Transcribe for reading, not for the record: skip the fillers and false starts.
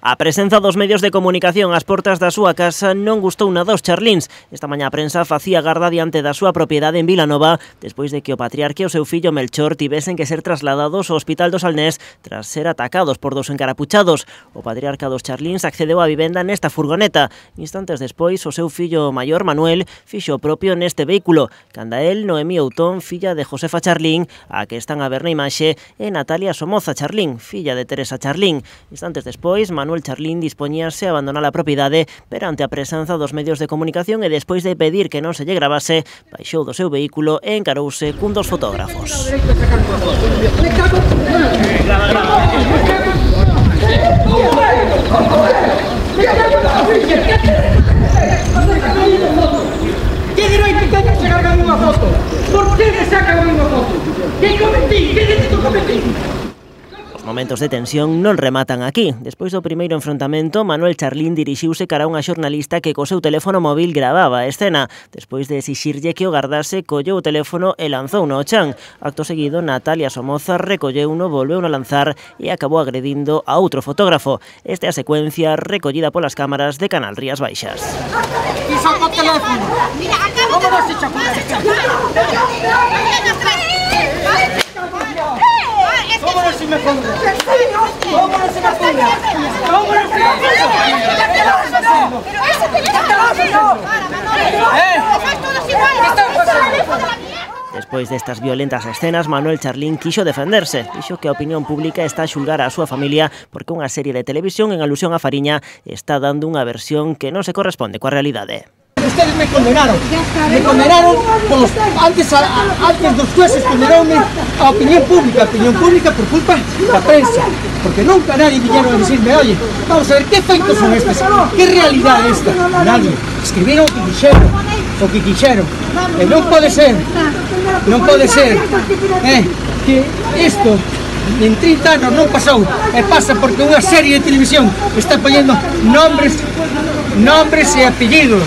A presenza dos medios de comunicación ás portas da súa casa non gustou nada aos charlíns. Esta mañá a prensa facía garda diante da súa propiedade en Vilanova despois de que o patriarca e o seu fillo Melchor tivesen que ser trasladados ao Hospital do Salnés tras ser atacados por dous encarapuchados. O patriarca dos charlíns accedeu á vivenda nesta furgoneta. Instantes despois, o seu fillo maior, Manuel, fixo o propio neste vehículo. Canda el, Noemí Outón, filla de Josefa Charlín, a que están a ver na imaxe, e Natalia Somoza Charlín, filla de Teresa Charlín. Instantes despois, Manuel Charlín dispoñíase a abandonar a propiedade perante a presenza dos medios de comunicación e despois de pedir que non se lle gravase, baixou do seu vehículo e encarouse cun dos fotógrafos. Que dereito teño a sacarme unha foto? Por que me sacan unha foto? Que cometí? Que delito cometí? Os momentos de tensión non rematan aquí. Despois do primeiro enfrontamento, Manuel Charlín dirixiuse cara a unha xornalista que co seu teléfono móvil gravaba a escena. Despois de exixirlle que o gardase, colleu o teléfono e lanzouno ao chan. Acto seguido, Natalia Somoza recolleuno, volveuno a lanzar e acabou agredindo a outro fotógrafo. Esta é a secuencia recollida polas cámaras de Canal Rías Baixas. Que saca o teléfono? Como non se chapou? ¿Cómo no se me ponga? ¿Cómo no se me ponga? ¿Cómo no se me ponga? Pero eso tiene que Despois destas violentas escenas, Manuel Charlín quixo defenderse. Dixo que a opinión pública está a xulgar a súa familia porque unha serie de televisión en alusión a Fariña está dando unha versión que non se corresponde coa realidade. Ustedes me condenaron con los, antes dos jueces condenaronme a opinión pública por culpa da prensa, porque nunca nadie vinieron a decirme, oye, vamos a ver, ¿qué feitos son estos? ¿Qué realidad é esta? Nadie. Escribiron o que quixeron, e non pode ser, que isto en 30 anos non pasou, e pasa porque unha serie de televisión está poñendo nombres e apellidos